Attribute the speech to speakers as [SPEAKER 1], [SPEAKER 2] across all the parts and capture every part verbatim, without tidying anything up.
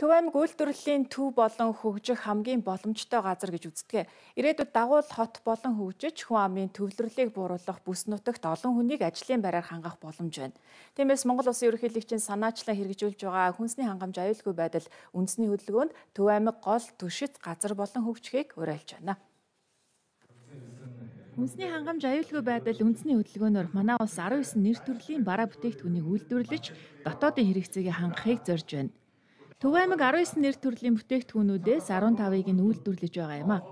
[SPEAKER 1] Төв аймаг үйлдвэрлэлийн төв болон хөгжих хамгийн боломжтой газар гэж үздэг. Ирээдүйд дагуул хот болон хөгжиж хүн амын төвлөрлийг бууруулах бүс нутагт олон хүнийг ажлын байраар хангах боломж байна. Тиймээс Монгол Улсын ерөнхийлөгчийн санаачлан хэрэгжүүлж байгаа хүнсний хангамж аюулгүй байдал үндэсний хөдөлгөөнд Төв аймаг гол түшиц газар болон хөгжихийг уриалж байна. Хүнсний хангамж аюулгүй байдал үндэсний хөдөлгөөнөөр манай улс арван девять нэр төрлийн бараа бүтээгдэхүүнийг үйлдвэрлэж дотоодын хэрэгцээг хангахыг зорж байна. Төв аймаг арван девять нэр төрлийн бүтээгдэхүүнүүдээс арван тавыг нь үйлдвэрлэж байгаа юм а.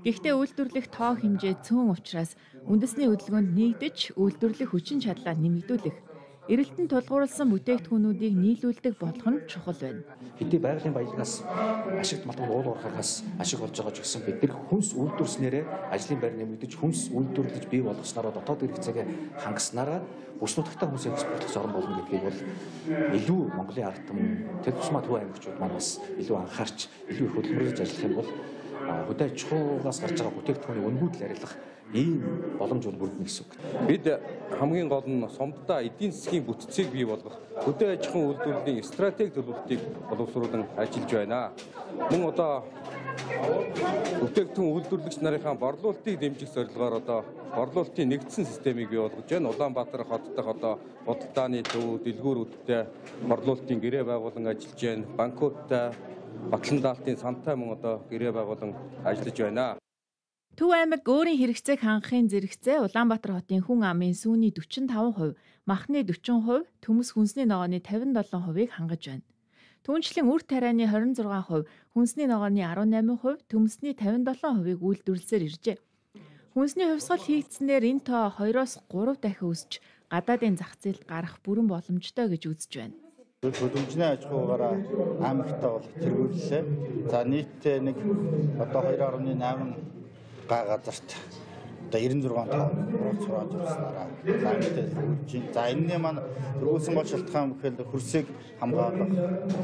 [SPEAKER 1] Гэхдээ үйлдвэрлэх тоо хэмжээ цөөн учраас үндэсний хөдөлгөөнд нэгдэж үйлдвэрлэх хүчин чадлаа нэмэгдүүлэх, эрэлтэн тулгуурласан бүтээгдэхүүнүүдийг нийлүүлдэг болох нь чухал байна.
[SPEAKER 2] Хэдий байгалийн баялагаас ашигт малтан уул уурхаагаас ашиг олж байгаа ч гэсэн бид нар хүнс үйлдвэрснээрээ ажлын байр нэмэгдэж хүнс үйлдвэрлэж бий болгоснараа дотоод хэрэгцээг хангаснараа бүс нутагтаа хүнс экспортлох зорн болно гэдгийг бол илүү Монголын ард түмэн тэр тусмаа Төв аймагчууд манаас илүү анхаарч илүү их хөдөлмөрлөж ажиллах юм бол хөдөө аж ахуйгаас гарч байгаа бүтээгдэхүүний үнгүүд арилгах ийм боломж бүрдэнэ гэсэн үг.
[SPEAKER 3] Бид хамгийн гол нь сомддоо эдийн засгийн бүтцийг бий болгох хөдөө аж ахуйн үйлдвэрлэлийн стратеги төлөвлөлтийг боловсруулан ажиллаж байна. Мөн одоо бүтээгдэхүүн үйлдвэрлэгч нарынхаа борлуулалтыг дэмжих зорилгоор одоо борлуулалтын нэгдсэн системийг бий болгож байна. Улаанбаатар хот дахь одоо худалдааны төв дэлгүүрүүдтэй борлуулалтын гэрээ байгуулан ажиллаж байна. Банкудтай Батлан даалтын сантай мөн одоо гэрээ байгуулан ажиллаж байна.
[SPEAKER 1] Төв аймаг өөрийн хэрэгцээг хангахын зэрэгцээ Улаанбаатар хотын хүн амын сүүний дөрвөн и таван хувь, махны дөрвөн хувь, төмс хүнсний ногооны тавин долоо хувийг хангаж байна. Түүнчлэн үр тарианы хорин зургаан хувь, хүнсний ногооны арван найман хувь, төмсний тавин долоо хувийг үйлдвэрлэсээр иржээ. Хүнсний хувьсгал хийгдснээр энэ тоо хоёроос гурав дахин өсч гадаадын зах зээлд гарах бүрэн боломжтой гэж үзэж байна.
[SPEAKER 4] Хөдөлмөрийн аж ахуйгаараа аймагтаа бол тэргүүллээ. За нийтдээ нэг одоо хоёр гаруй восемь га газарт одоо девяносто шесть тоо цураад явснараа аймагтаа хөгжиж. За энэний маань төрүүлсэн гол шалтгаан бүхэл хөрсийг хамгаалах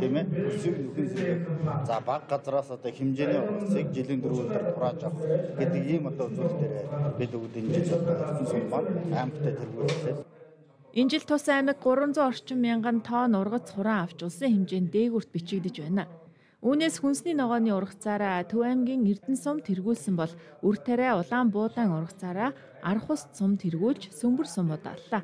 [SPEAKER 4] тийм ээ. Хөрсийг нөхөн зэрэг за баг газараас одоо хэмжээний хөрсийг жилийн дөрвөлдөр турааж авах гэдэг ийм одоо зүйл дээр бид бүгд энэ жил одоо сум маань аймагтаа тэргүүллээ.
[SPEAKER 1] Энэ жил тус аймаг гурван зуун орчим мянган тонн ургац хуран авч улсын хэмжээнд дээгүүрт бичигдэж байна. Үүнээс хүнсний ногооны ургацаараа Төв аймгийн Эрдэнэ сум тэргүүлсэн бол үр тариа Улаан буудаан ургацаараа Архус сум тэргүүлж Сөмбөр сум удааллаа.